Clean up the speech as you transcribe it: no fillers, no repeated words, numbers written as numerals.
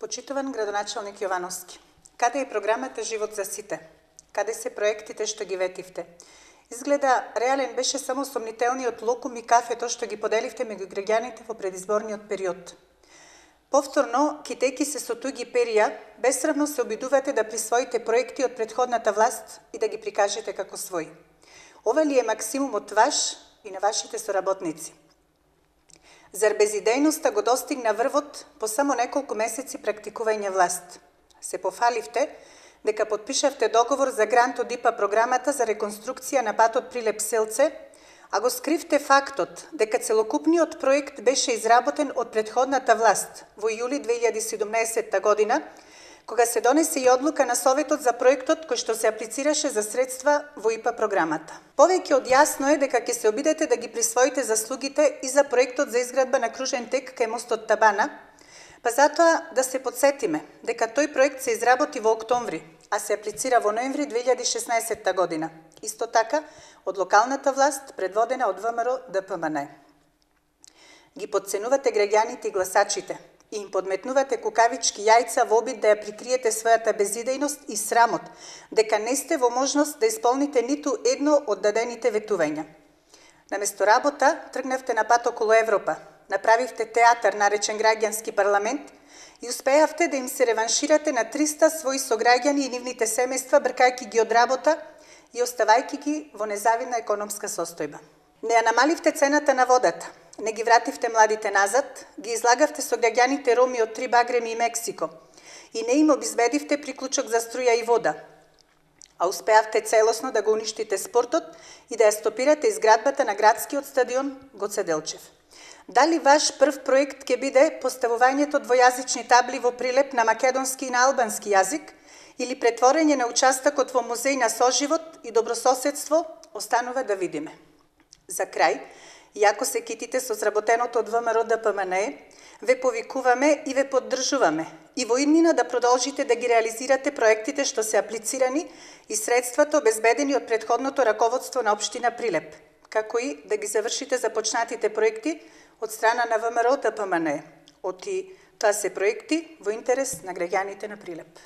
Почитуван градоначалник Јовановски, каде е програмата Живот за сите? Каде се проектите што ги ветивте? Изгледа реален беше само сомнителниот локум и кафето што ги поделивте меѓу граѓаните во предизборниот период. Повторно, китејки се со туги перија, бесрамно се обидувате да присвоите проекти од претходната власт и да ги прикажете како своји. Ова ли е максимумот ваш и на вашите соработници? Зар безидејноста го достигна врвот по само неколку месеци практикување власт? Се пофаливте дека потпишавте договор за грант од ИПА програмата за реконструкција на патот Прилеп-Селце, а го скривте фактот дека целокупниот проект беше изработен од претходната власт во јули 2017 година, кога се донесе и одлука на Советот за проектот кој што се аплицираше за средства во ИПА програмата. Повеќе од јасно е дека ќе се обидете да ги присвоите заслугите и за проектот за изградба на кружен тек кај мостот Табана, па затоа да се подсетиме дека тој проект се изработи во октомври, а се аплицира во ноември 2016 година. Исто така, од локалната власт, предводена од ВМРО ДПМН. Ги подценувате граѓаните и гласачите и им подметнувате кукавички јајца во обид да ја прикриете својата безидејност и срамот, дека не сте во можност да исполните ниту едно од дадените ветувања. Наместо работа, тргнавте на пат околу Европа, направивте театар наречен граѓански парламент и успеавте да им се реванширате на 300 своји сограѓани и нивните семејства, бркајќи ги од работа и оставајќи ги во незавидна економска состојба. Не ја намаливте цената на водата, не ги вративте младите назад, ги излагавте сограѓаните роми од 3 багреми и Мексико и не им обезбедивте приклучок за струја и вода, а успеавте целосно да го уништите спортот и да ја стопирате изградбата на градскиот стадион Гоце Делчев. Дали ваш прв проект ќе биде поставувањето двојазични табли во Прилеп на македонски и на албански јазик или претворење на участокот во музеј на соживот и добрососедство, останува да видиме. За крај, иако се китите со сработеното од ВМРО ДПМН, ве повикуваме и ве поддржуваме и во иднина да продолжите да ги реализирате проектите што се аплицирани и средствата обезбедени од претходното раководство на општина Прилеп, како и да ги завршите започнатите проекти од страна на ВМРО ДПМН. Оти тоа се проекти во интерес на граѓаните на Прилеп.